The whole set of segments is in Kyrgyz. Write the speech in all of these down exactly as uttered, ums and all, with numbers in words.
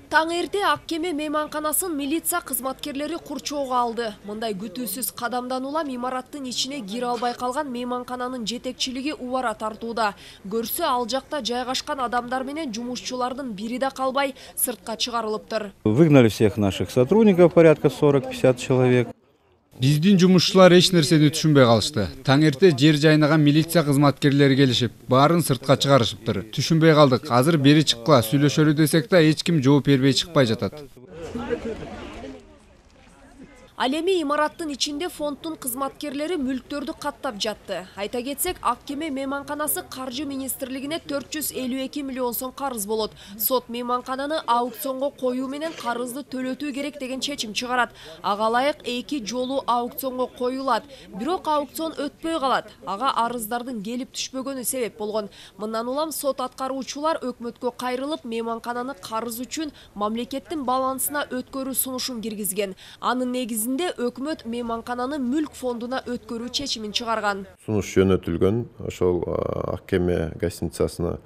Таң эрте ак кеме мейманканасын милиция кызматкерлери курчоого алды. Мындай күтүүсүз кадамдан улам имараттын ичине кире албай калган мейманкананын жетекчилиги убара тартууда. Көрсө ал жакта жайгашкан адамдар менен жумушчулардын бири да калбай сыртка чыгарылыптыр. Выгнали всех наших сотрудников, порядка сорок-пятьдесят человек. Биздин жумушчулар эч нерсени түшүнбөй калышты. Таң эрте жер жайнаган милиция кызматкерлери келишип, баарын сыртка чыгарышыптыр. Түшүнбөй калдык. Азыр бери чыккыла сүйлөшөлү десек да эч ким жооп бербей чыкпай жатат. Ал эми имараттын ичинде фонддун кызматкерлери мүлктөрдү каттап жатты. Айта кетсек, ак кеме мейманканасы каржы министрлигине төрт жүз элүү эки миллион сом карыз болот. Сот мейманкананы аукционго коюу менен карызды төлөтүү керек деген чечим чыгарат. Ага ылайык эки жолу аукционго коюлат. Бирок аукцион өтпөй калат. Ага арыздардын келип түшпөгөнү себеп болгон. Мындан улам сот аткаруучулар өкмөткө кайрылып, мейманкананы карыз үчүн мамлекеттин балансына өткөрүү сунушун киргизген. Анын негизинде өкмөт мейманкананы мүлк фондуна өткөрүү чечимин чыгарган. Сунуш жөнөтүлгөн ошол ак кеме гостиницасына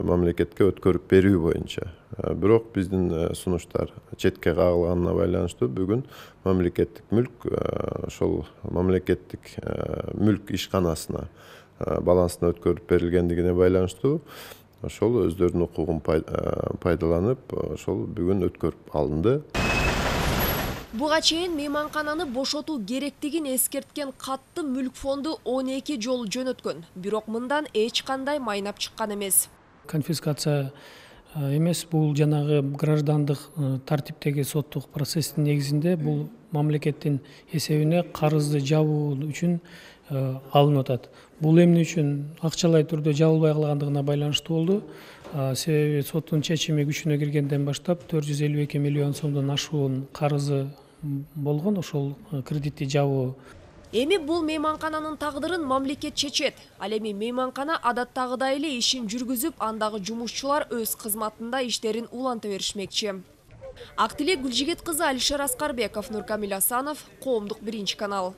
мамлекетке өткөрүп берүү боюнча. Бирок биздин сунуштар четке кагылганына байланыштуу бүгүн мамлекеттик мүлк ошол мамлекеттик мүлк ишканасына балансына өткөрүп берилгендигине байланыштуу ошол өздөрүнүн укугун пайдаланып ошол бүгүн өткөрүп алынды. Буга чейин мейманкананы бошотуу керектигин эскерткен катты мүлк фонду он эки жолу жөнөткөн. Бирок мындан эч кандай майнап чыккан эмес. Конфискация эмес, бул жанагы граждандык тартиптеги соттук процесстин негизинде бул мамлекеттин эсебине карызды жабуу үчүн алынып атат. Бул эмне үчүн акчалай түрдө жабылбай калгандыгына байланыштуу болду. Себеби соттун чечими күчүнө киргенден баштап төрт жүз элүү эки миллион сомдон ашуун карызы болгон, ошол кредитти жабуу. Эми бул мейманкананын тагдырын мамлекет чечет. Ал эми мейманкана адаттагыдай эле ишин жүргүзүп, андагы жумушчулар өз кызматында иштерин уланта беришмекчи. Актилек Гүлжигит кызы, Алишер Аскарбеков, Нуркамил Асанов, Коомдук биринчи канал.